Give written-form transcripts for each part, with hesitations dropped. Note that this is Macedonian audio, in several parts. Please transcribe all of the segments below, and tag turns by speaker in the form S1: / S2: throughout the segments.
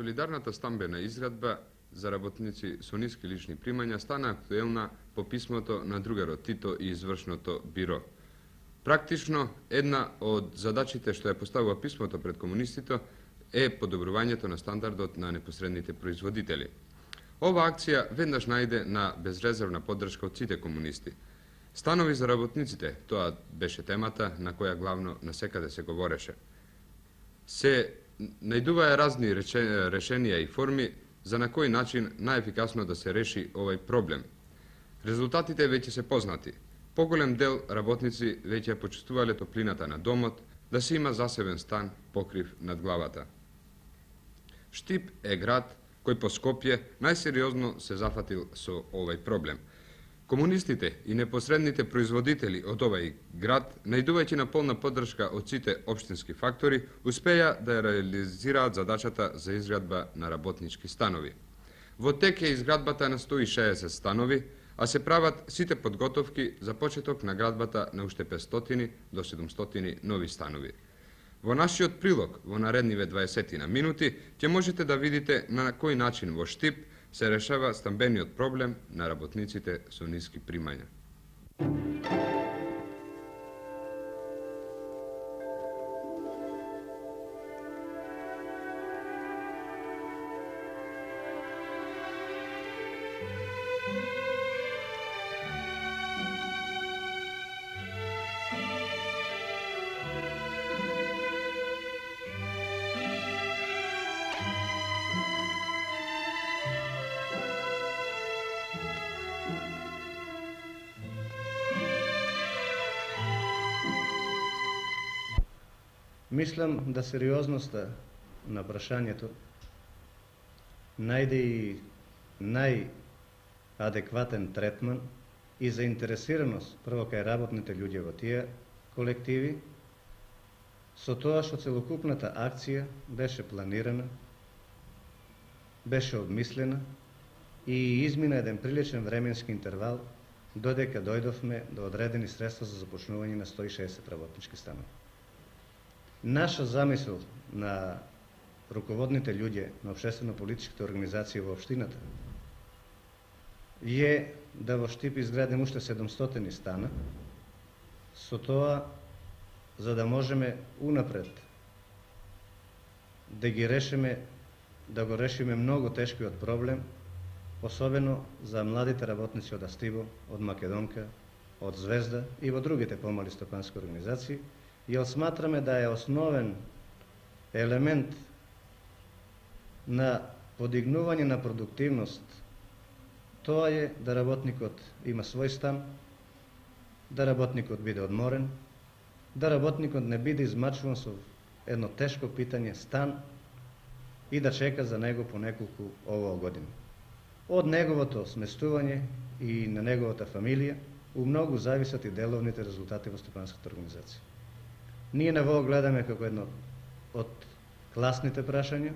S1: Солидарната стамбена изградба за работници со ниски лични примања стана актуелна по писмото на другарот Тито и извршното биро. Практично, една од задачите што ја поставува писмото пред комунистите е подобрувањето на стандардот на непосредните производители. Ова акција веднаш најде на безрезервна поддршка од сите комунисти. Станови за работниците, тоа беше темата на која главно насекаде се говореше. Се најдуваа разни решенија и форми за на кој начин најефикасно да се реши овој проблем. Резултатите веќе се познати. Поголем дел работници веќе почувствувале топлината на домот, да се има засебен стан покрив над главата. Штип е град кој по Скопје најсериозно се зафатил со овој проблем. Комунистите и непосредните производители од овој град, најдувајќи на полна поддршка од сите општински фактори, успеа да реализираат задачата за изградба на работнички станови. Во тек е изградбата на 160 станови, а се прават сите подготовки за почеток на градбата на уште 500 до 700 нови станови. Во нашиот прилог во наредниве 20 минути ќе можете да видите на кој начин во Штип се решава стамбениот проблем на работниците со ниски примања.
S2: Мислам да сериозноста на прашањето најде и најадекватен третман и заинтересираност прво кај работните луѓе во тие колективи, со тоа што целокупната акција беше планирана, беше обмислена и измина еден приличен временски интервал додека дојдовме до одредени средства за започнување на 160 работнички станови. Наша замисел на руководните луѓе на општествено-политичките организации во општината е да во Штип изградим уште 700 стана, со тоа за да можеме унапред да го решиме многу тешкиот проблем, особено за младите работници од Астибо, од Македонка, од Звезда и во другите помали стопански организации, јер сматраме да е основен елемент на подигнување на продуктивност, тоа е да работникот има свој стан, да работникот биде одморен, да работникот не биде измачуван со едно тешко питање стан и да чека за него по неколку години. Од неговото сместување и на неговата фамилија у многу зависат и деловните резултати во стопанската организација. Ние на во гледаме како едно од класните прашања,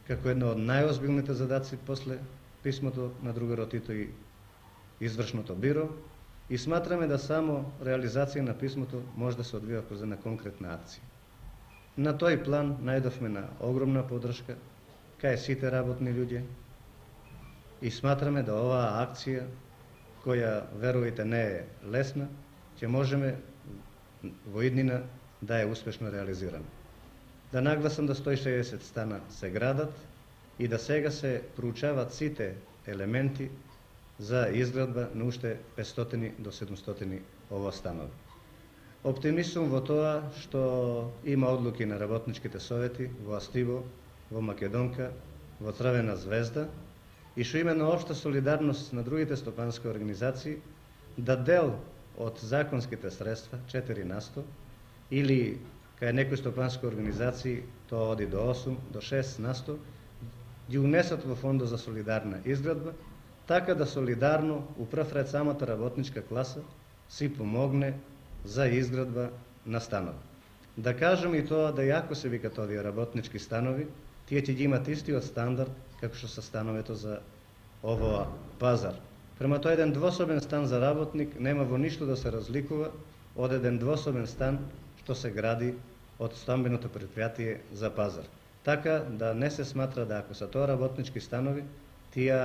S2: како едно од најозбилните задаци после писмото на другарот Тито и извршното биро и сматраме да само реализација на писмото може да се одвива kroz една конкретна акција. На тој план најдовме на огромна поддршка кај сите работни луѓе и сматраме да оваа акција, која верувајте не е лесна, ќе можеме во иднина да е успешно реализирана. Да нагласам да 160 стана се градат и да сега се проучават сите елементи за изградба на уште 500 до 700 ова станови. Оптимист сум во тоа што има одлуки на работничките совети во Астибо, во Македонка, во Црвена Звезда и што има на општа солидарност на другите стопански организации да дел од законските средства, 4%, или кај некои стопански организации тоа оди до 8, до 6%, ги унесат во фондот за солидарна изградба, така да солидарно, у прв ред самата работничка класа, си помогне за изградба на станови. Да кажем и тоа да јако се викат овие работнички станови, тие ќе ги имат истиот стандард како што се становето за овоа пазар. Према тоа еден двособен стан за работник нема во ништо да се разликува од еден двособен стан што се гради од стамбеното предпријатие за пазар. така да не се сматра да ако се тоа работнички станови, тие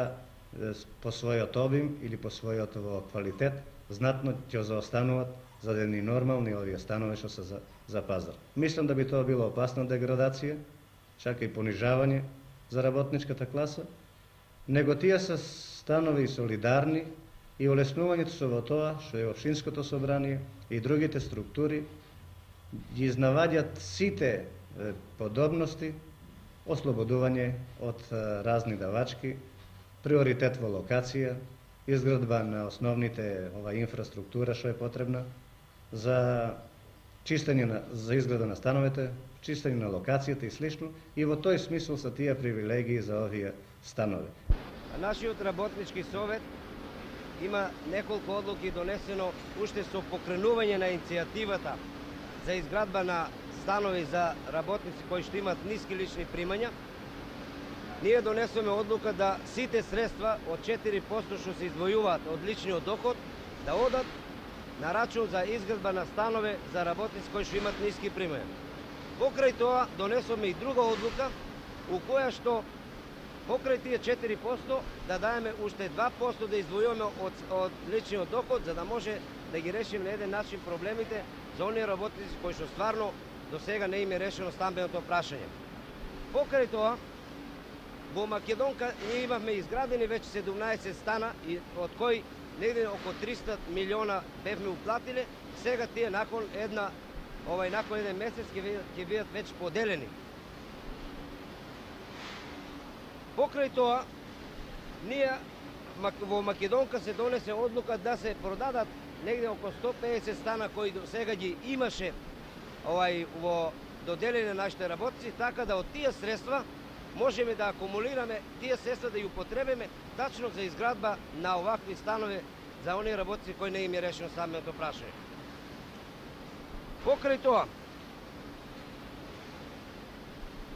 S2: по својот обим или по својот квалитет знатно ќе заостануваат за да ни нормални овие станови што се за пазар. Мислам да би тоа било опасна деградација, чака и понижавање за работничката класа, него тие се станови солидарни и олеснувањето со во тоа што е општинското собрание и другите структури ги изнаваѓаат сите подобности, ослободување од разни давачки, приоритет во локација, изградба на основните инфраструктура што е потребна за чистење за изгледа на становите, чистење на локацијата и слично, и во тој смисол се тие привилегии за овие станови.
S3: Нашиот работнички совет има неколку одлуки донесено уште со покренување на иницијативата за изградба на станови за работници кои што имаат ниски лични примања. Ние донесоме одлука да сите средства од 4% што се издвојуваат од личниот доход да одат на рачун за изградба на станови за работници кои што имаат ниски примања. Покрај тоа донесоме и друга одлука у која што покрај тие 4% да даеме уште 2% да издвојуваме од личниот доход за да може да ги решиме на еден начин проблемите за оние работници кои што стварно до сега не им е решено стамбеното прашање. Покрај тоа во Македонка ние имавме изградени веќе 17 стана и од кои негде околу 300 милиона бевме уплатиле, сега тие након еден месец ќе бидат веќе поделени. Покрај тоа, ние во Македонка се донесе одлука да се продадат негде околу 150 стана кои до сега ги имаше во доделени на нашите работници, така да од тие средства можеме да акумулираме тие средства да ја употребиме тачно за изградба на овакви станови за оние работници кои не им е решено стамбеното прашање. Покрај тоа,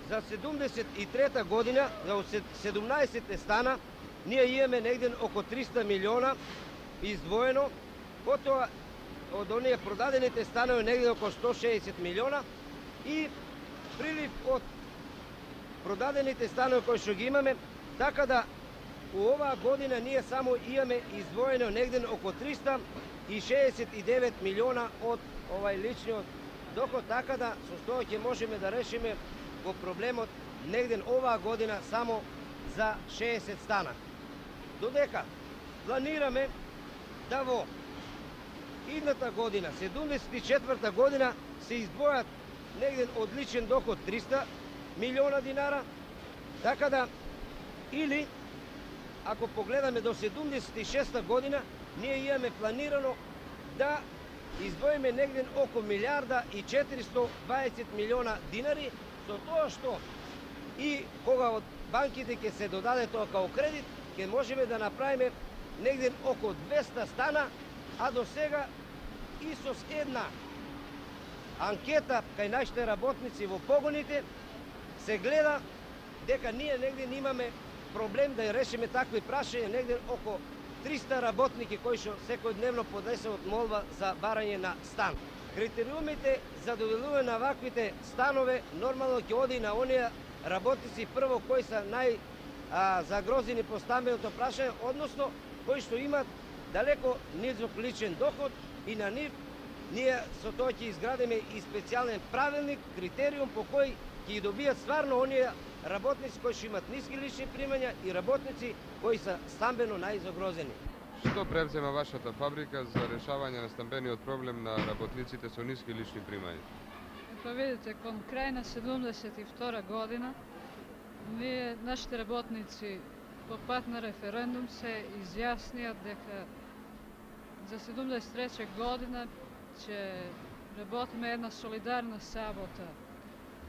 S3: за 73-та година, за 17 стана, ние имаме негде околу 300 милиона издвоено, потоа од оние продадените станови негде околу 160 милиона и прилив од продадените станови кои што ги имаме, така да у оваа година ние само имаме издвоено негде околу 369 милиона од личниот доход, така да со тоа ќе можеме да решиме во проблемот негде оваа година само за 60 стана. Додека планираме да во идната година, 74-та година, се издвојат негде од личен доход 300 милиона динара, така да или ако погледаме до 76-та година, ние имаме планирано да издвоиме негде околу милиарда и 420 милиона динари, со тоа што и кога од банките ќе се додаде тоа као кредит, ќе можеме да направиме негде околу 200 стана, а до сега и со една анкета кај нашите работници во погоните се гледа дека ние негде имаме проблем да решиме такви прашања, негде околу 300 работники кои што секојдневно поднесуваат молба за барање на стан. Критериумите за доделување на ваквите станове нормално ќе оди на оние работници прво кои се загрозени по стамбеното прашање, односно кои што имаат далеко низок личен доход и на нив ние со тоа ќе изградиме и специјален правилник, критериум по кој ќе ги добијат стварно оние работници кои што имаат ниски лични примања и работници кои се стамбено најзагрозени.
S1: Што превзема вашата фабрика за решавање на стамбениот проблем на работниците со ниски лични примања?
S4: Ето видите, кон крај на 72 година, нашите работници по пат на референдум се изјаснија дека за 73 година ќе работиме една солидарна сабота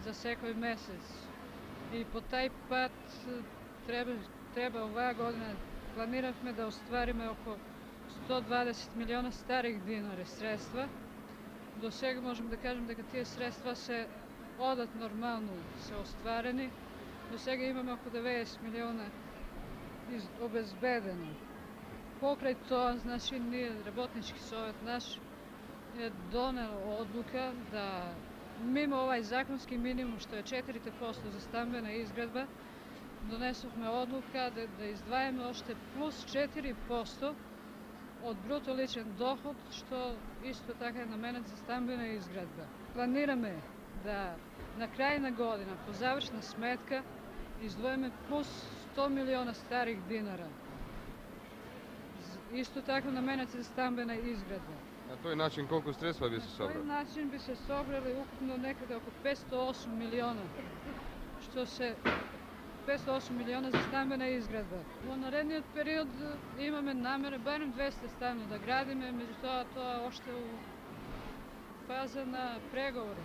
S4: за секој месец. И по тај пат треба оваа година планиравме да оствариме околу 120 милиона старих динари средства. До сега можем да кажем дека тие средства се одат нормално, се остварени. До сега имаме околу 90 милиона обезбедено. Покрај тоа, значи, ние, работнички совет наш, е донел одлука да мимо овај законски минимум што е 4% за стамбена изградба, донесовме одлука да издвајаме оште плюс 4% од бруто личен доход, што исто така е наменет за стамбена изградба. Планираме да на крај на година, по завршна сметка, издвоиме плюс 100 милиона старих динара. Исто така наменет за стамбена изградба.
S1: На тој начин колку средства би се
S4: На
S1: собрали?
S4: тој начин би се собрали укупно некаде око 508 милиона, што се 508 милиона за стамбена изградба. Во наредниот период имаме намера барем 200 станови да градиме, меѓутоа тоа оште у фаза на преговори.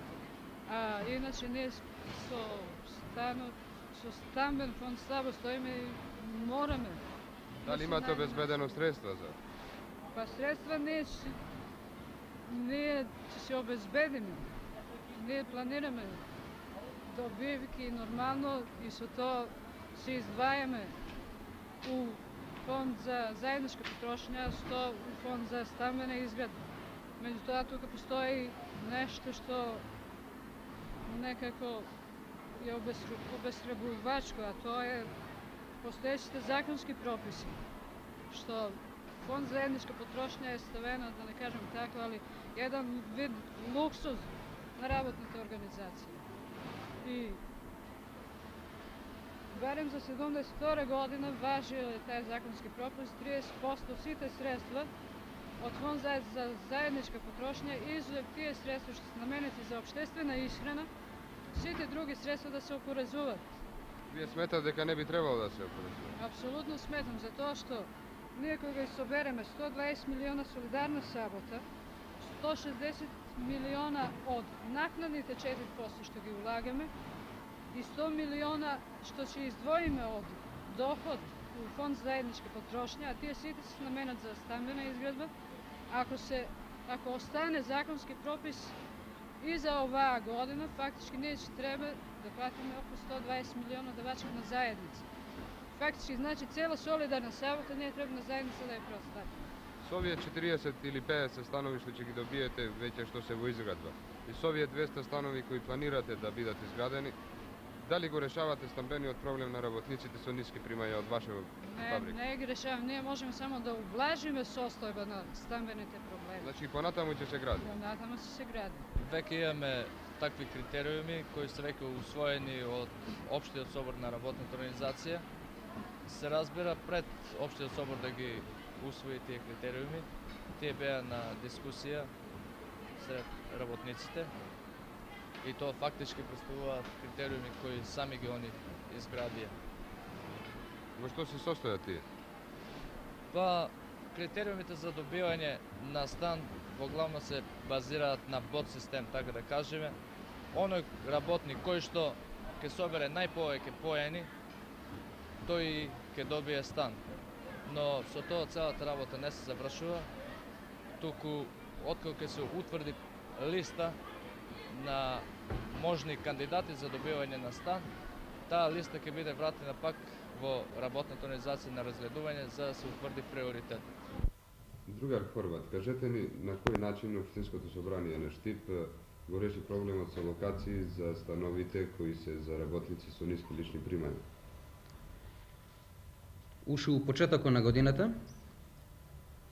S4: А иначе ние со стамбен фонд слабо стоиме и мораме.
S1: Дали имате обезбедено средства за?
S4: Па средства ние ќе се обезбедиме. Ние планираме добивки нормално и со тоа се издвајаме у фонд за заедничка потрошња, 100 у фонд за стамбена изградба. Меѓутоа тука постои нешто што некако е обесхрабрувачко, а тоа е постоечите законски прописи, што фонд за заедничка потрошња е ставена, да не кажем така, али еден вид луксуз на работните организации. И барем за 72 година важи тај законски пропис, 30% сите средства од фонд за заедничка потрошња, изузев тие средства што се наменети за општествена исхрана, сите други средства да се опорезуваат.
S1: Вие сметате дека не би требало да се опорезува?
S4: Апсолутно сметам, затоа што ние кога собереме 120 милиона солидарна сабота, 160 милиона од накнадните 4% што ги улагаме и 100 милиона што ќе издвоиме од доход у фонд за заедничка потрошња, а тие сите се наменат за стамбена изградба, ако остане законски пропис и за оваа година, фактички ние ќе треба да платиме околу 120 милиона давачки на заедница. Фактички, значи, цела солидарна сабота ние треба на заедница да ја преоставиме.
S1: Со овие 40 или 50 станови што ќе ги добиете веќе што се во изградба и со овие 200 станови кои планирате да бидат изградени, дали го решавате стамбениот проблем на работниците со ниски примања од вашата фабрика?
S4: Не ги решаваме, ние можеме само да ублажиме состојба на стамбените проблеми.
S1: Значи понатаму ќе се гради?
S4: Понатаму ќе се гради.
S5: Веќе имаме такви критериуми кои се веќе усвоени од Општиот собор на работната организација. Се разбира пред Општиот собор да ги усвои тие критериуми. Тие беа на дискусија сред работниците и тоа фактички представуваат критериуми кои сами ги они изградија.
S1: Во што се состојат тие?
S5: Па, критериумите за добивање на стан во главно се базираат на бот систем, така да кажеме. Оној работник кој што ќе собере најповеќе поени, тој ќе добие стан. Но со тоа целата работа не се завршува, туку откако ќе се утврди листа на можни кандидати за добивање на стан, таа листа ќе биде вратена пак во работната организација на разгледување за да се утврди приоритет.
S1: Другар Хорват, кажете ни на кој начин Општинското собрание на Штип го реши проблемот со локации за становите кои се за работници со ниски лични примања?
S6: Уште у почетокот на годината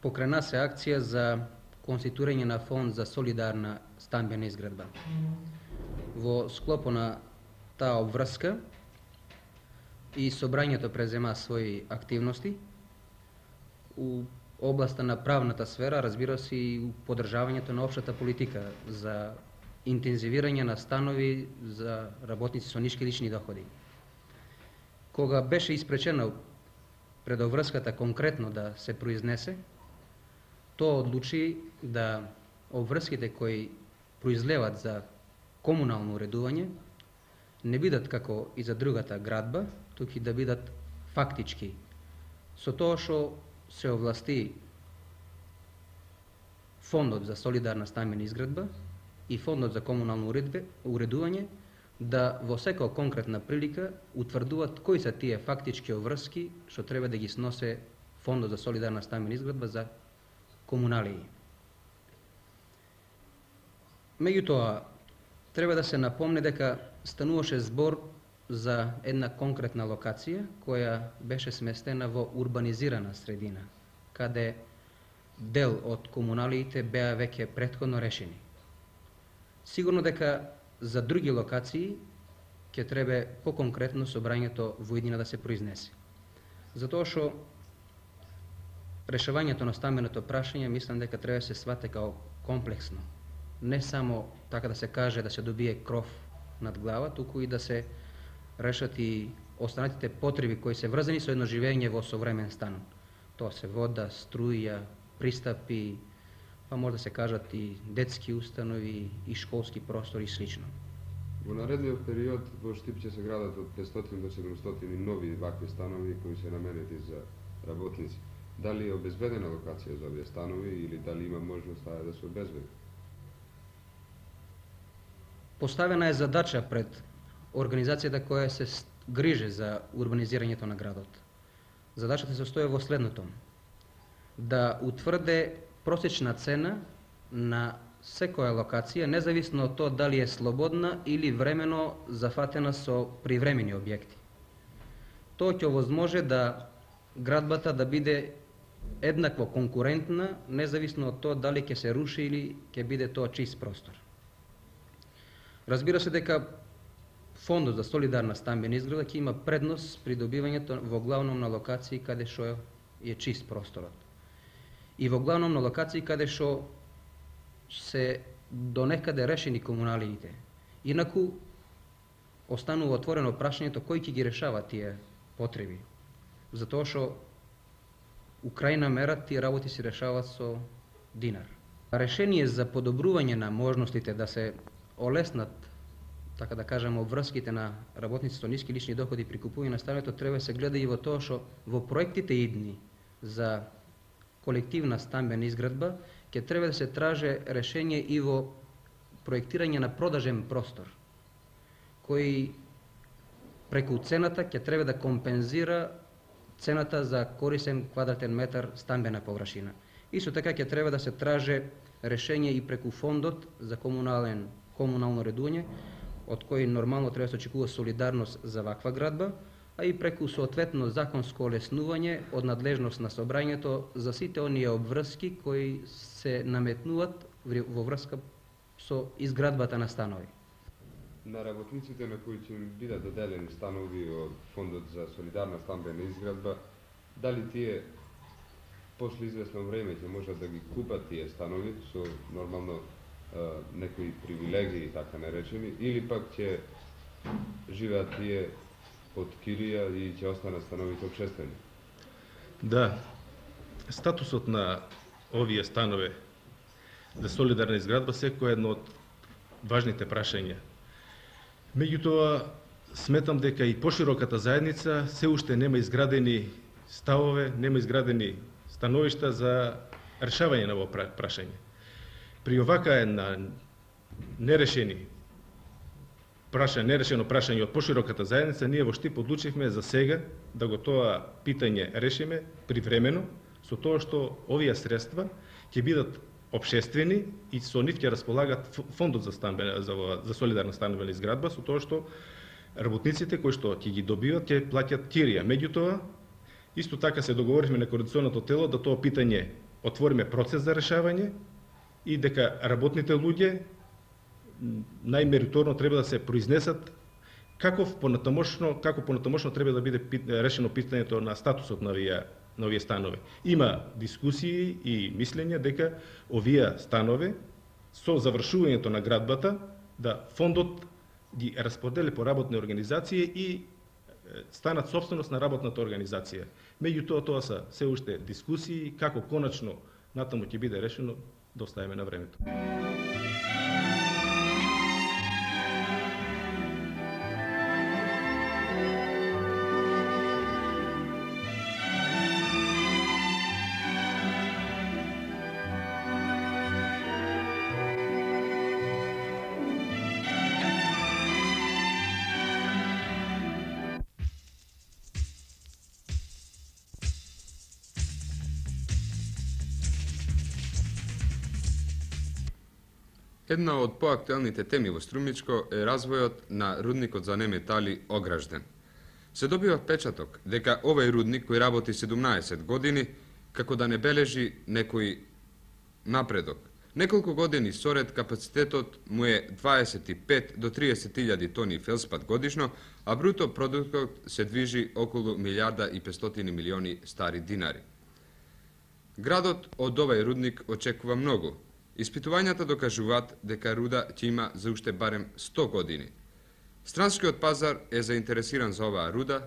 S6: покрана се акција за конституирање на фонд за солидарна стамбена изградба. Во склопот на таа обврска и собрањето презема своји активности у областа на правната сфера, разбира се и у поддржавањето на општата политика за интензивирање на станови за работници со ниски лични доходи. Кога беше испречено пред обврската конкретно да се произнесе, тоа одлучи да обврските кои произлеват за комунално уредување не бидат како и за другата градба, туку да бидат фактички. Со тоа што се овласти Фондот за солидарна стамбена изградба и Фондот за комунално уредување да во секоја конкретна прилика утврдуваат кои се тие фактички обврски што треба да ги сносе Фондот за солидарна стамбена изградба за комуналии. Меѓутоа, треба да се напомне дека стануваше збор за една конкретна локација која беше сместена во урбанизирана средина, каде дел од комуналиите беа веќе претходно решени. Сигурно дека за други локации ќе треба поконкретно собрањето во иднина да се произнесе. Затоа што решавањето на стамбеното прашање мислам дека треба да се свате као комплексно. Не само така да се каже да се добие кров над глава, туку и да се решат и останатите потреби кои се врзани со едно живење во современ стан. Тоа се вода, струја, пристапи, па може да се кажат и детски установи, и школски простори и слично.
S1: Во наредниот период во Штип ќе се градат од 500 до 700 нови вакви станови кои се наменети за работници. Дали е обезбедена локација за овие станови или дали има можност таа да се обезбеди?
S6: Поставена е задача пред организацијата која се грижи за урбанизирањето на градот. Задачата се состои во следното: да утврде просечна цена на секоја локација, независно од тоа дали е слободна или времено зафатена со привремени објекти. Тоа ќе овозможи да градбата да биде еднакво конкурентна, независно од тоа дали ќе се руши или ќе биде тоа чист простор. Разбира се дека Фондот за солидарна стамбена изграда ќе има предност при добивањето во главном на локации каде што е чист просторот. И во главном на локации каде што се донекаде решени комуналиите. Инаку останува отворено прашањето кој ќе ги решава тие потреби. Затоа што у крајна мера тие работи се решаваат со динар. Решение за подобрување на можностите да се олеснат, така да кажем, обврските на работници со ниски лични доходи при купување на становето треба да се гледа и во тоа што во проектите идни за колективна стамбена изградба ќе треба да се траже решение и во проектирање на продажен простор, кој преку цената ќе треба да компензира цената за корисен квадратен метар стамбена површина. Исто така ќе треба да се траже решение и преку фондот за комунално редување, од кој нормално треба да се очекува солидарност за ваква градба, а и преку соодветно законско олеснување од надлежност на собрањето за сите оние обврски кои се наметнуваат во врска со изградбата на станови.
S1: На работниците на кои ќе им бидат доделени станови од Фондот за солидарна стамбена изградба, дали тие после известно време ќе можат да ги купат тие станови со нормално некои привилегии, така наречени, или пак ќе живеат тие од кирија и ќе останат становите општествени?
S7: Да, статусот на овие станови за солидарна изградба секој е едно од важните прашања. Меѓутоа, сметам дека и пошироката заедница се уште нема изградени ставове, нема изградени становишта за решавање на ово прашање. При овака една нерешено прашање од пошироката заедница, ние во Штип одлучивме за сега да го тоа питање решиме привремено, со тоа што овие средства ќе бидат општествени и со нив ќе располагат Фондот за солидарна стамбена изградба, со тоа што работниците кои што ќе ги добиват ќе плаќат кирија. Меѓутоа, исто така се договоривме на координационото тело да тоа питање отвориме процес за решавање и дека работните луѓе најмериторно треба да се произнесат како понатамошно треба да биде решено питањето на статусот на овие станови. Има дискусии и мислење дека овие станови со завршувањето на градбата да фондот ги расподели по работни организации и станат собственост на работната организација. Меѓутоа, тоа се се уште дискусии, како конечно натаму ќе биде решено, да оставиме на времето.
S1: Една од поактуелните теми во Струмичко е развојот на рудникот за неметали Огражден. Се добива впечаток дека овој рудник кој работи 17 години како да не бележи некој напредок. Неколку години соред капацитетот му е 25 до 30.000 тони фелспат годишно, а бруто продуктот се движи околу 1.500 милиони стари динари. Градот од овој рудник очекува многу. Испитувањата докажуваат дека руда ќе има за уште барем 100 години. Странскиот пазар е заинтересиран за оваа руда,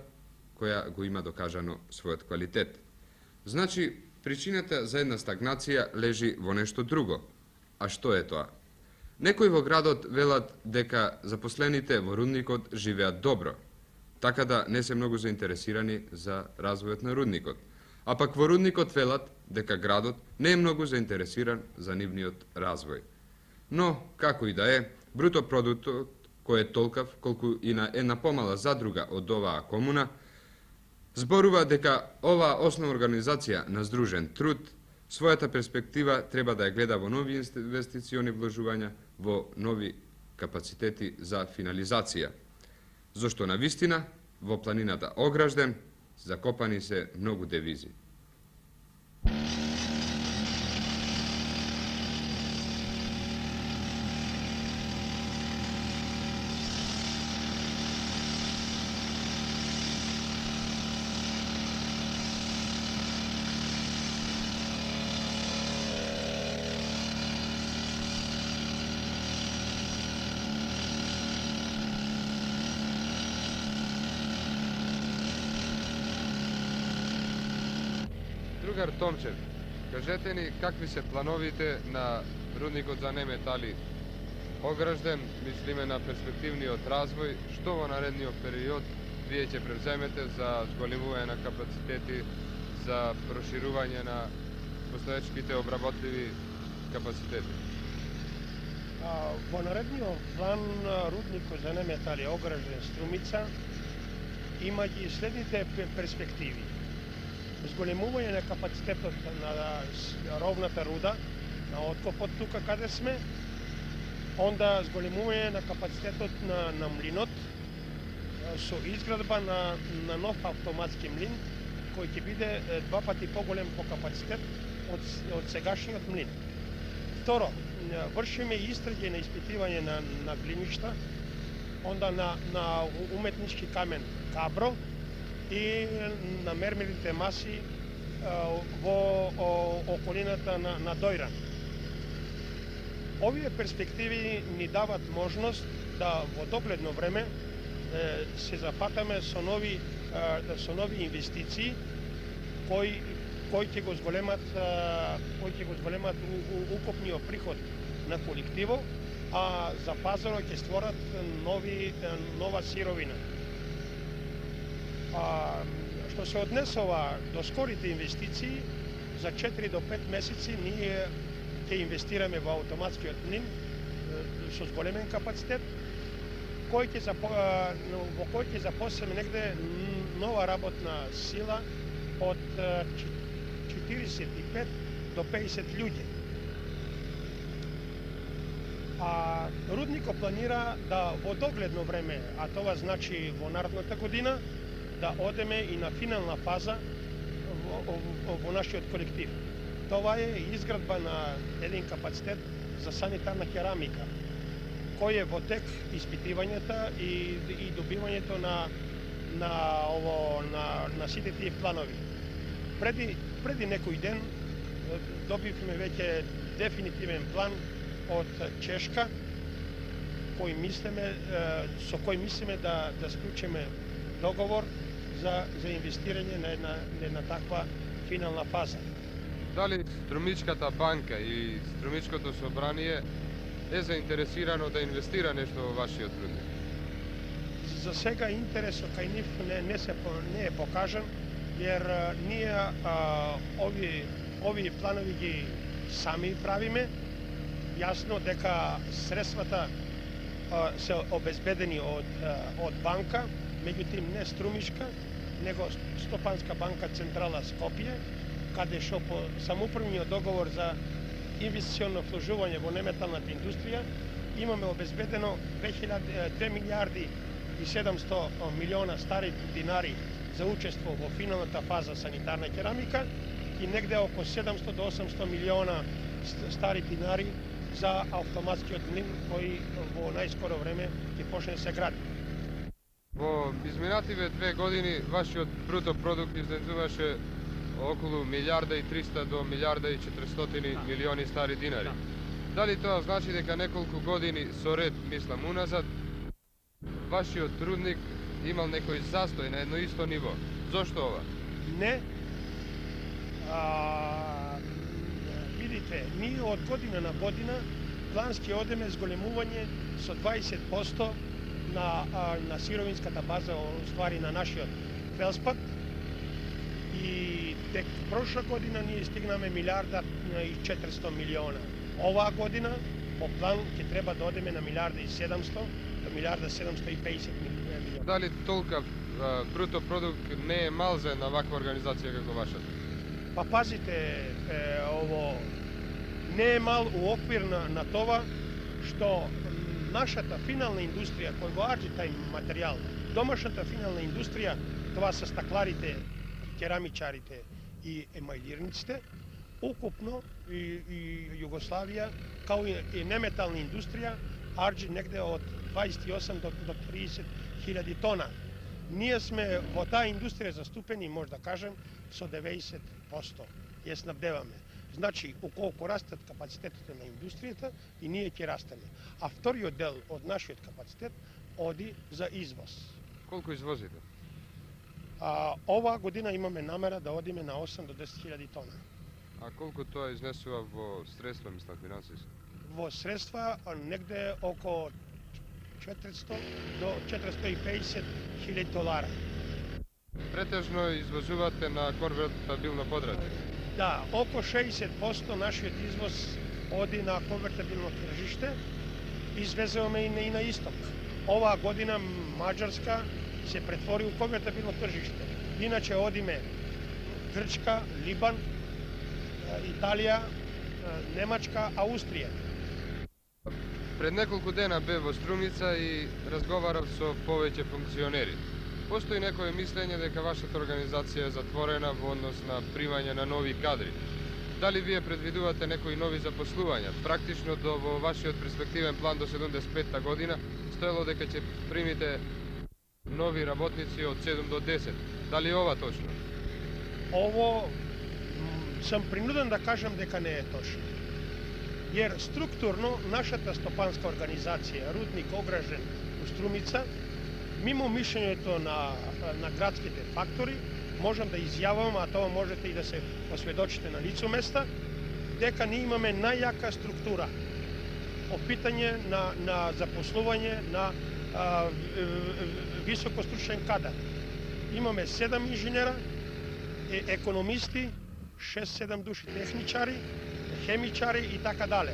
S1: која го има докажано својот квалитет. Значи, причината за една стагнација лежи во нешто друго. А што е тоа? Некои во градот велат дека запослените во рудникот живеат добро, така да не се многу заинтересирани за развојот на рудникот. А пак во рудникот велат дека градот не е многу заинтересиран за нивниот развој. Но, како и да е, бруто продуктот, кој е толкав колку и на една помала задруга од оваа комуна, зборува дека оваа основна организација на здружен труд својата перспектива треба да ја гледа во нови инвестициони вложувања, во нови капацитети за финализација. Зошто на вистина во планината Огражден закопани се многу девизи. Другар Томчев, кажете ни какви се плановите на рудникот за неметали Огражден, мислиме на перспективниот развој, што во наредниот период вие ќе превземете за зголемување на капацитети, за проширување на постоечките обработливи капацитети?
S8: Во наредниот план рудникот за неметали Огражден Струмица има ги следните перспективи. Зголемување на капацитетот на ровната руда, на откопот тука каде сме, онда зголемување на капацитетот на млинот со изградба на нов автоматски млин, кој ќе биде 2 пати поголем по капацитет од сегашниот млин. Второ, вршиме истраги на испитување на глиништа, онда на уметнички камен Кабро, и на мермелите маси во околината на Дојран. Овие перспективи ни дават можност да во догледно време се зафатаме со нови инвестиции кои ќе го зголемат укупниот приход на колективо, а за пазарот ќе створат нова сировина. Што се однесува до скорите инвестиции, за 4 до 5 месеци ние ќе инвестираме во автоматскиот млин со зголемен капацитет, во кој ќе запослиме негде нова работна сила од 45 до 50 луѓе. Рудникот планира да во догледно време, а тоа значи во наредната година, да одеме и на финална фаза во нашиот колектив. Това е изградба на еден капацитет за санитарна керамика, кој е во тек испитувањата и добивањето на сите тие планови. Преди некој ден добивме веќе дефинитивен план од Чешка, со кој мислиме да склучиме договор за инвестирање на една таква финална фаза.
S1: Дали Струмичката банка и Струмичкото собрание е заинтересирано да инвестира нешто во вашиот рудник?
S8: За сега интересот кај нив не е покажан, jer ние овие планови ги сами правиме. Јасно дека средствата се обезбедени од банка, меѓутоа не Струмичка, него Стопанска банка Централа Скопје, каде што по самоуправниот договор за инвестиционно вложување во неметалната индустрија, имаме обезбедено 2 милиарди и 700 милиона стари динари за учество во финалната фаза санитарна керамика и негде околу 700 до 800 милиона стари динари за автоматскиот млин кој во најскоро време ќе почне да се гради.
S1: Во изминативе 2 години вашиот бруто продукт изнесуваше околу 1.300 до 1.400 милиони стари динари. Дали тоа значи дека неколку години со ред, мислам уназад, вашиот рудник имал некој застој на едно исто ниво? Зошто ова?
S8: Не. Видите, ние од година на година плански одеме зголемување со 20% на сировинската база, ствари на нашиот велспат. И тек прошла година ние стигнаме 1.400 милиона. Оваа година по план ќе треба да одеме на 1.700 до 1.750 милиона.
S1: Дали толка бруто продукт не е мал за една ваква организација како вашата?
S8: Па пазите, ово не е мал у оквир на това што нашата финална индустрија кој го арџи тај материјал, домашната финална индустрија, това се стакларите, керамичарите и емајлирниците, укупно и Југославија, као и неметална индустрија, арџи негде од 28 до 30 хиляди тона. Ние сме во таа индустрија заступени, може да кажем, со 90% ја снабдеваме. Значи, околку растат капацитетите на индустријата и ние ќе растеме. А вториот дел од нашиот капацитет оди за извоз.
S1: Колку извозите?
S8: Оваа година имаме намера да одиме на 8 до 10 хиляди тона.
S1: А колку тоа изнесува во средства, мислам, финансиски?
S8: Во средства негде околу 400 до 450 хиляди долара.
S1: Претежно извозувате на конвертабилно подради?
S8: Да, околу 60% нашиот извоз оди на конвертабилно тржиште, извезуваме и на исток. Оваа година Маđarска се претвори у конвертабилно тржиште. Иначе одиме Грчка, Либан, Италија, Немачка, Аустрија.
S1: Пред неколку дена бе во Струмица и разговарав со повеќе функционери. Постои некое мислење дека вашата организација е затворена во однос на примање на нови кадри. Дали вие предвидувате некои нови запослувања? Практично во вашиот перспективен план до 75-та година стоело дека ќе примите нови работници од 7 до 10. Дали е ова точно?
S8: Ово сам принуден да кажам дека не е точно. Jer strukturno нашата стопанска организација Рудник Огражен у Струмица, мимо мишљењето на градските фактори, можам да изјавам, а тоа можете и да се осведочите на лицу места, дека ние имаме најјака структура по питање на запослување на високостручен кадар. Имаме 7 инженера, економисти, 6-7 души техничари, хемичари и така дале.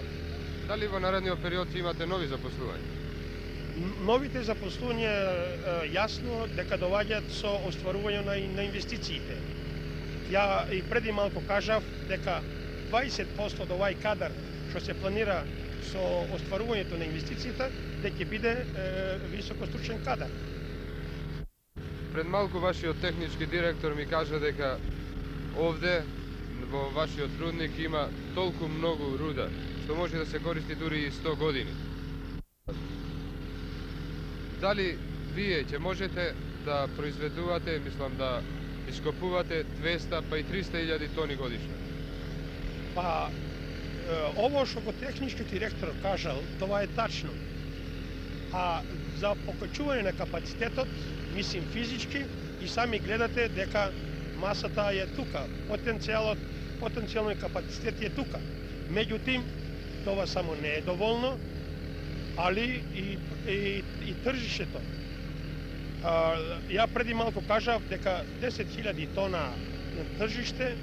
S1: Дали во наредниот период имате нови запослувања?
S8: Новите запослувања јасно дека доаѓаат со остварување на инвестициите. Ја и преди малку кажав дека 20% од овај кадар што се планира со остварувањето на инвестициите дека ќе биде високостручен кадар.
S1: Пред малку вашиот технички директор ми кажа дека овде во вашиот рудник има толку многу руда што може да се користи дури и 100 години. Дали вие ќе можете да произведувате, мислам да ископувате 200 па и 300.000 тони годишно?
S8: Па, ово што го технички директор кажал, тоа е тачно. А за покачување на капацитетот, мислим физички, и сами гледате дека масата е тука, потенцијалниот капацитет е тука. Меѓутим, тоа само не е доволно, али и тржишето. Ја преди малку кажав дека 10.000 тона тржиште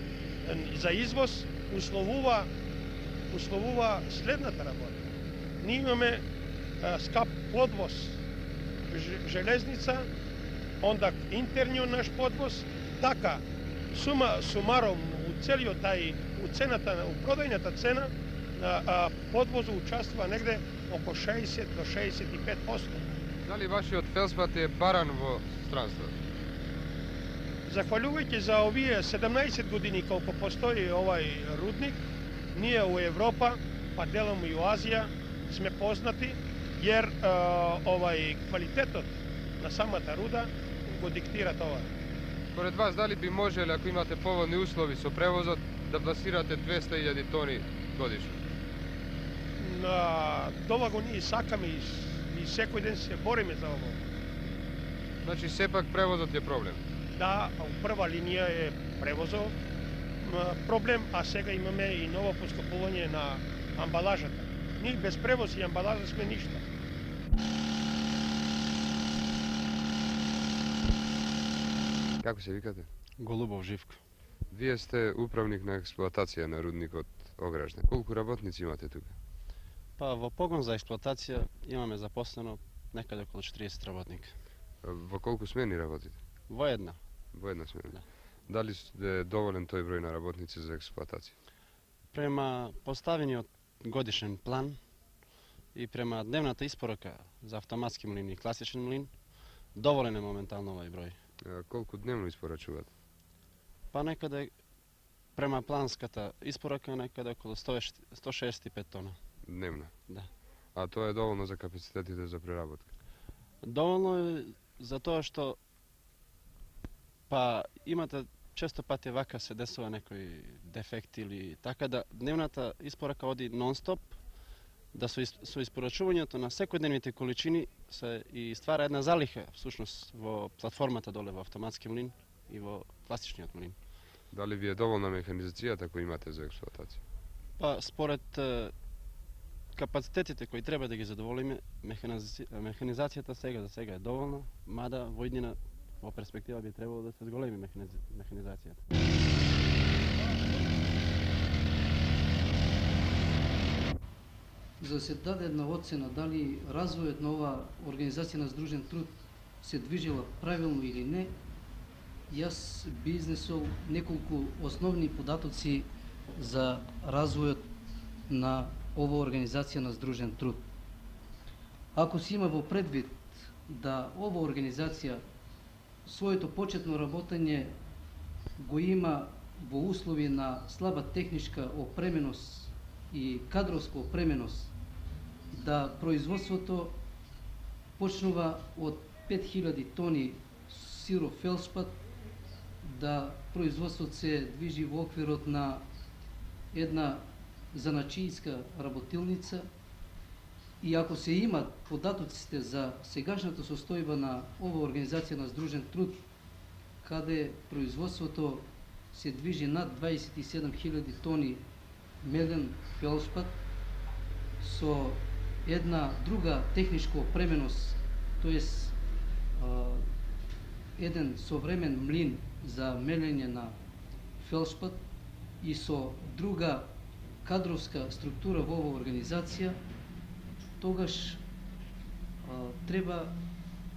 S8: за извоз условува следната работа. Ние имаме скап подвоз, железница, онда интерниот наш подвоз, така сумаром у целиот тај, у цената, у продајната цена подвозу участвува негде око 60 до 65%.
S1: Дали вашиот фелспат е баран во странство?
S8: Захвалувајќи за овие 17 години колку постои овај рудник, ние у Европа, па делом и у Азија, сме познати, jer квалитетот на самата руда го диктира тоа.
S1: Според вас, дали би можеле, ако имате поволни услови со превозот, да пласирате 200.000 тони годишно?
S8: Тоа го ние сакаме и секој ден се бориме за ово.
S1: Значи, сепак превозот е проблем?
S8: Да, у прва линија е превозот проблем, а сега имаме и ново поскапување на амбалажата. Ние без превоз и амбалажа сме ништа.
S1: Како се викате?
S9: Голубов Живко.
S1: Вие сте управник на експлоатација на рудникот Огражне. Колку работници имате тука?
S9: Па во погон за експлоатација имаме запослено некаде околу 40 работника.
S1: Во колку смени работите?
S9: Во една.
S1: Во една смена.
S9: Да.
S1: Дали е доволен тој број на работници за експлоатација?
S9: Према поставениот годишен план и према дневната испорака за автоматски млин и класичен млин, доволен е моментално овој број.
S1: Колку дневно испорачувате?
S9: Па некаде према планската испорака некаде околу 165 тона.
S1: Дневно?
S9: Да.
S1: А тоа е доволно за капацитетите за преработка?
S9: Доволно е за тоа што па имате често пати вака се десува некој дефект или така да дневната испорака оди нон-стоп, да со испорачувањето на секојдневните количини се и ствара една залиха всушност во платформата доле во автоматски млин и во класичниот млин.
S1: Дали ви е доволна механизацијата која имате за експлоатација?
S9: Па според капацитетите кои треба да ги задоволиме, механизацијата сега за сега е доволна, мада во иднина во перспектива би требало да се зголеми механизацијата.
S10: За да се даде една оцена дали развојот на ова организација на здружен труд се движела правилно или не, јас би изнесол неколку основни податоци за развојот на ова организација на здружен труд. Ако се има во предвид да ова организација своето почетно работење го има во услови на слаба техничка опременост и кадровска опременост, да производството почнува од 5000 тони сиров фелспат, да производството се движи во оквирот на една заначијска работилница, и ако се имат податоците за сегашната состојба на ова организација на здружен труд, каде производството се движи над 27.000 тони меден фелспат со една друга техничка опременост, тоест еден современ млин за мелење на фелспат и со друга кадровска структура во оваа организација, тогаш треба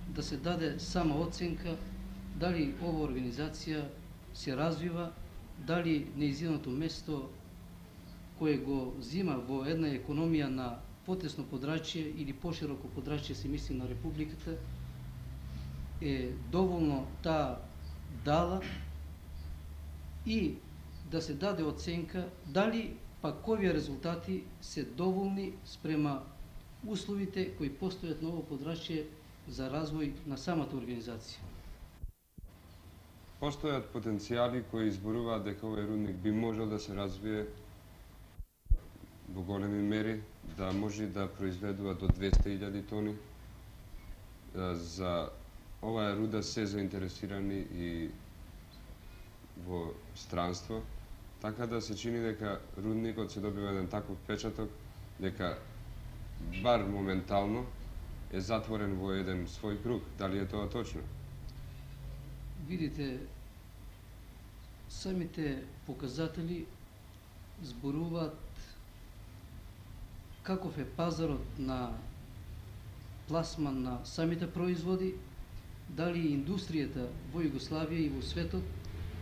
S10: да се даде сама оценка дали ова организација се развива, дали нејзиното место кое го зима во една економија на потесно подрачје или пошироко подрачје, се мисли на Републиката, е доволно таа дала, и да се даде оценка дали пак овие резултати се доволни спрема условите кои постојат на ово подрачје за развој на самата организација.
S1: Постојат потенцијали кои изборуваат дека овој рудник би можел да се развие во големи мери, да може да произведува до 200.000 тони. За оваа руда се заинтересирани и во странство, така да се чини дека рудникот се добива еден таков печаток, дека бар моментално е затворен во еден свој круг. Дали е тоа точно?
S10: Видите, самите показатели зборуваат каков е пазарот на пласман на самите производи, дали индустријата во Југославија и во светот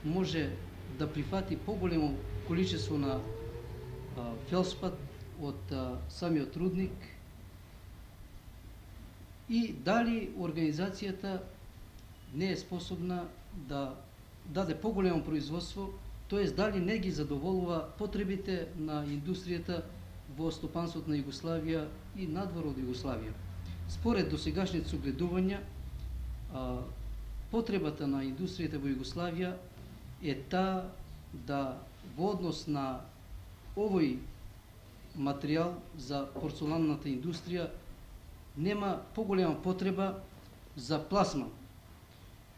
S10: може да прифати поголемо количество на фелспат од самиот рудник и дали организацијата не е способна да даде поголемо производство, тоест дали не ги задоволува потребите на индустријата во стопанството на Југославија и надвор од Југославија. Според досегашните согледувања, потребата на индустријата во Југославија е таа да во однос на овој материјал за порцеланната индустрија нема поголема потреба за пласман.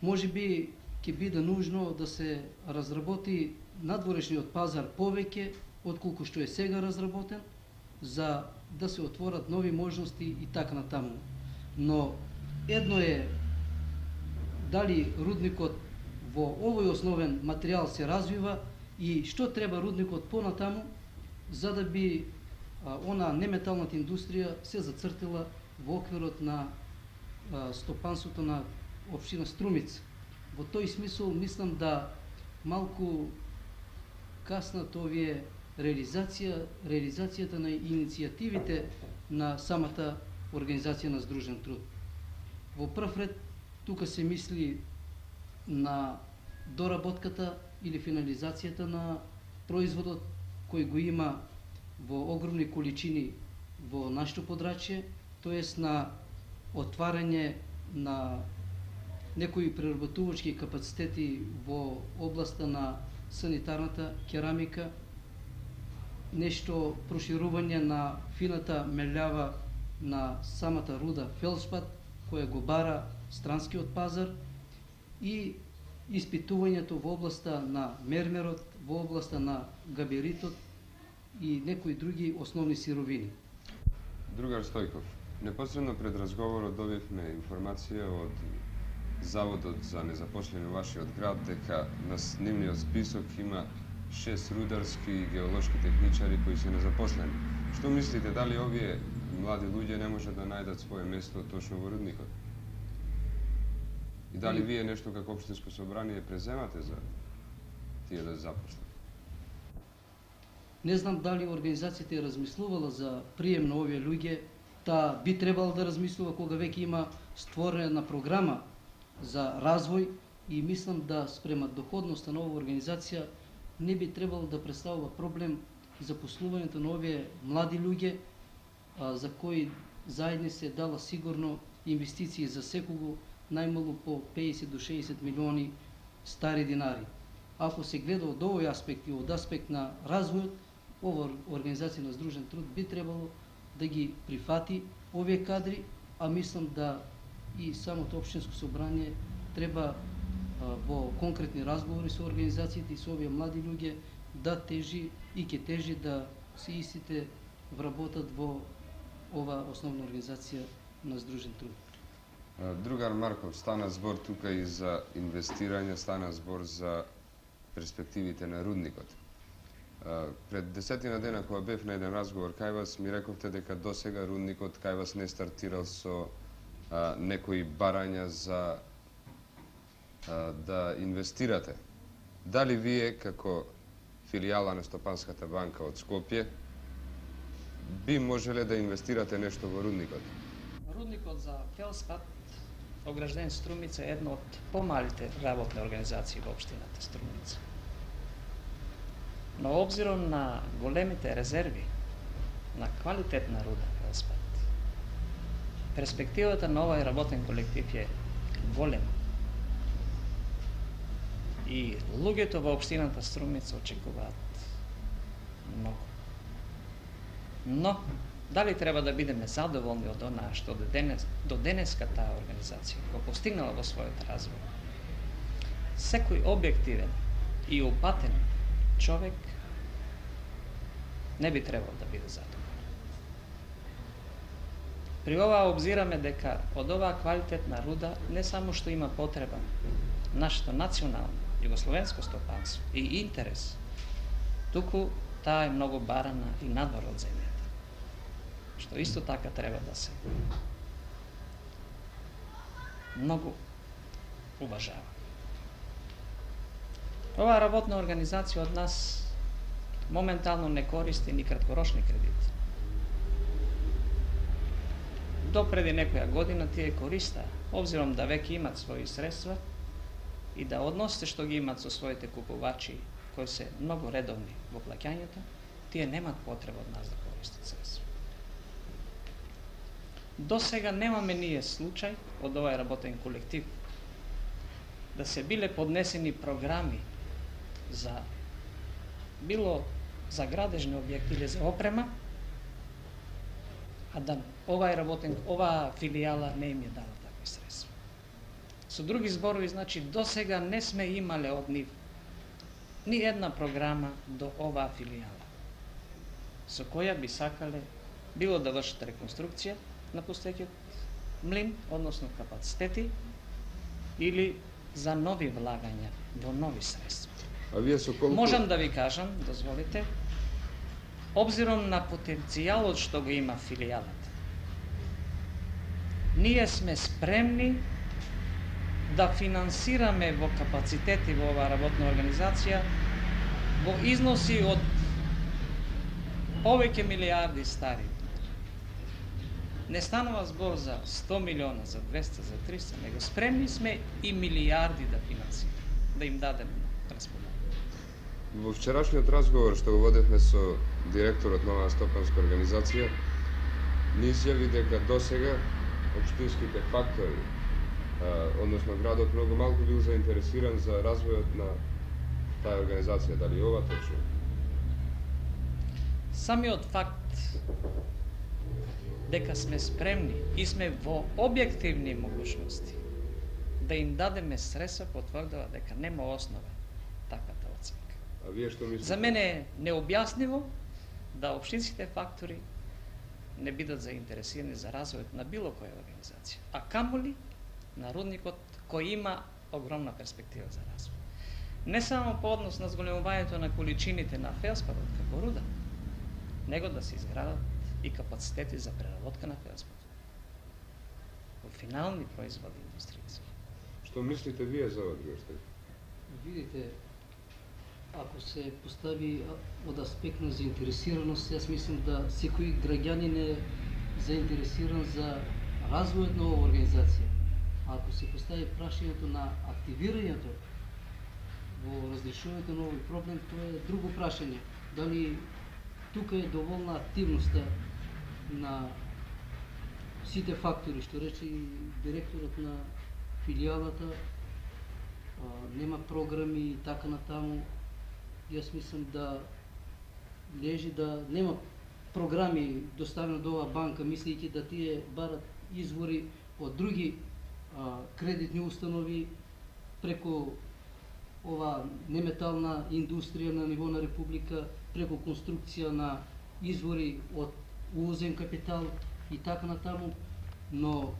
S10: Може би ќе биде нужно да се разработи надворешниот пазар повеќе отколку што е сега разработен, за да се отворат нови можности и така натаму. Но едно е дали рудникот во овој основен материјал се развива и што треба рудникот понатаму, за да би она неметалната индустрија се зацртила во оквирот на стопанството на општина Струмица. Во тој смисол мислам да малку каснат овие реализацијата на иницијативите на самата Организација на Сдружен труд. Во прв ред тука се мисли на доработката или финализацијата на производот кој го има во огромни количини во нашето подрачје, тоест на отварање на некои преработувачки капацитети во областа на санитарната керамика, нешто проширување на фината мељава на самата руда фелшпат, која го бара странскиот пазар, и испитувањето во областа на мермерот, во областа на габеритот и некои други основни сировини.
S1: Другар Стојков, непосредно пред разговорот добивме информација од Заводот за незапослени во вашиот град дека на нивниот список има 6 рударски и геолошки техничари кои се незапослени. Што мислите, дали овие млади луѓе не може да најдат свое место точно во рудникот? И дали вие нешто како општинско собрание преземате за тие да запослат?
S10: Не знам дали организацијата е размислувала за прием на овие луѓе, та би требало да размислува кога веќе има створена програма за развој и мислам да спрема доходноста на оваа организација не би требало да представува проблем за послувањето на овие млади луѓе за кои заедно се дала сигурно инвестиции за секого најмалу по 50 до 60 милиони стари динари. Ако се гледа од овој аспект и од аспект на развојот, ова Организација на Сдружен труд би требало да ги прифати овие кадри, а мислам да и самото општинско собрание треба во конкретни разговори со организациите и со овие млади луѓе да тежи и ќе тежи да се истите вработат во ова основна Организација на Сдружен труд.
S1: Другар Марков, стана збор тука и за инвестирање, стана збор за перспективите на рудникот. Пред 10 дена кога бев на еден разговор кај вас, ми рековте дека досега рудникот кај вас не стартирал со некои барања за да инвестирате. Дали вие, како филијала на Стопанската банка од Скопје, би можеле да инвестирате нешто во рудникот?
S11: Рудникот за фелспат огражден Струмица е една од помалите работни организации во општината Струмица. Но обзиром на големите резерви на квалитетна руда фелспат, перспективата на овој работен колектив е голема. И луѓето во општината Струмица очекуваат многу. Но, дали треба да бидеме задоволни од онаа што до денеска таа организација го постигнала во својот развој? Секој објективен и упатен човек не би требал да биде задоволен. При ова обзираме дека од оваа квалитетна руда не само што има потреба нашето национално југословенско стопанство и интерес, туку таа е многу барана и надвор од земјата, што исто така треба да се многу уважава. Оваа работна организација од нас моментално не користи ни краткорочни кредити. допреди некоја година тие користаа, обзиром да веќе имат своји средства и да односите што ги имат со своите купувачи, кои се многу редовни во плаќањето, тие немат потреба од нас да користат средства. До сега немаме ние случај од овај работен колектив да се биле поднесени програми за било за градежни објекти или за опрема, а да оваа филијала не им е дала такви средства. Со други зборови, значи, до сега не сме имале од нив ни една програма до оваа филијала, со која би сакале било да вршат реконструкција на постоеќиот млин, односно капацитети, или за нови влагања во нови средства.
S1: А вие со колку...
S11: Можам да ви кажам, дозволите, обзиром на потенцијалот што го има филијалата, ние сме спремни да финансираме во капацитети во оваа работна организација во износи од повеќе милиарди стари. Не станува збор за 100 милиона, за 200, за 300, него спремни сме и милиарди да финансираме, да им дадеме на располагање.
S1: Во вчерашниот разговор што го водевме со директорот на оваа стопанска организација, ни изјави дека досега општинските фактори, односно градот многу малку бил заинтересиран за развојот на таа организација. Дали ова точно?
S11: Самиот факт дека сме спремни и сме во објективни могушности да им дадеме средства потврдува дека нема основа таквата оценка.
S1: А вие што мислите?
S11: За мене е необјаснимо да општинските фактори не бидат заинтересирани за развојот на било која организација, а камоли на рудникот кој има огромна перспектива за развој. Не само по однос на зголемувањето на количините на фелспарот како руда, него да се изградат и капацитети за преработка на фелспар во финални производи индустријски.
S1: Што мислите вие за ова, Григор?
S10: Видите, ако се постави од аспект на заинтересираност, јас мислам да секој граѓанин е заинтересиран за развојот на оваа организација. А ако се постави прашањето на активирањето во разрешувањето на овој проблем, тоа е друго прашање. Дали тука е доволна активноста на сите фактори, што рече и директорот на филијалата, нема програми и така натаму. Јас мислам да лежи да нема програми доставено до оваа банка, мислејќи да тие барат извори од други кредитни установи преку ова неметална индустрија на ниво на Република, преку конструкција на извори од увозен капитал и така натаму, но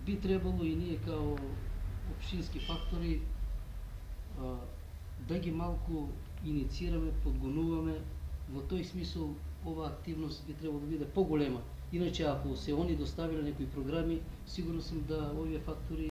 S10: би требало и ние као општински фактори да ги малку инициираме, подгонуваме. Во тој смисол оваа активност би требало да биде поголема. Иначе ако се они доставиле некои програми, сигурно сум да овие фактори